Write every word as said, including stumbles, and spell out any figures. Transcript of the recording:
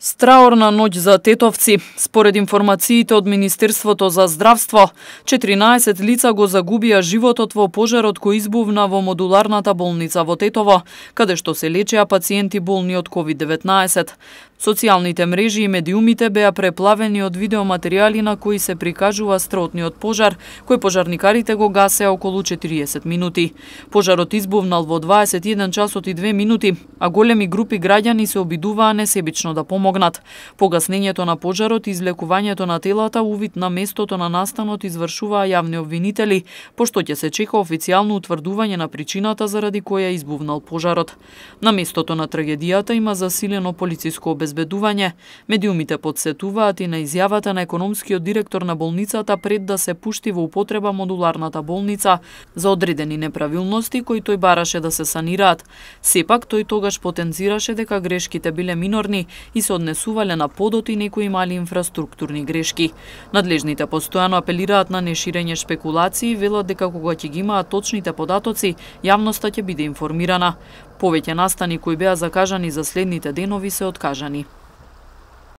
Страорна ноќ за тетовци. Според информациите од Министерството за здравство, четиринаесет лица го загубија животот во пожарот кој избувна во модуларната болница во Тетово, каде што се лечеа пациенти болни од ковид деветнаесет. Социјалните мрежи и медиумите беа преплавени од видеоматеријали на кои се прикажува страотниот пожар, кој пожарникарите го гасеа околу четириесет минути. Пожарот избувнал во дваесет и еден часот и две минути, а големи групи граѓани се обидуваа несебично да помогнат. Погаснењето на пожарот и излекувањето на телата увид на местото на настанот извршуваа јавни обвинители, пошто ќе се чека официјално утврдување на причината заради која избувнал пожарот. На местото на трагедијата има засилено полициско обезбедување. Медиумите подсетуваат и на изјавата на економскиот директор на болницата пред да се пушти во употреба модуларната болница за одредени неправилности кои тој бараше да се санираат. Сепак тој тогаш потенцираше дека грешките биле минорни и се однесувале на подот и некои мали инфраструктурни грешки. Надлежните постојано апелираат на неширење шпекулации и велат дека кога ќе ги имаат точните податоци, јавноста ќе биде информирана. Повеќе настани кои беа закажани за следните денови се откажани.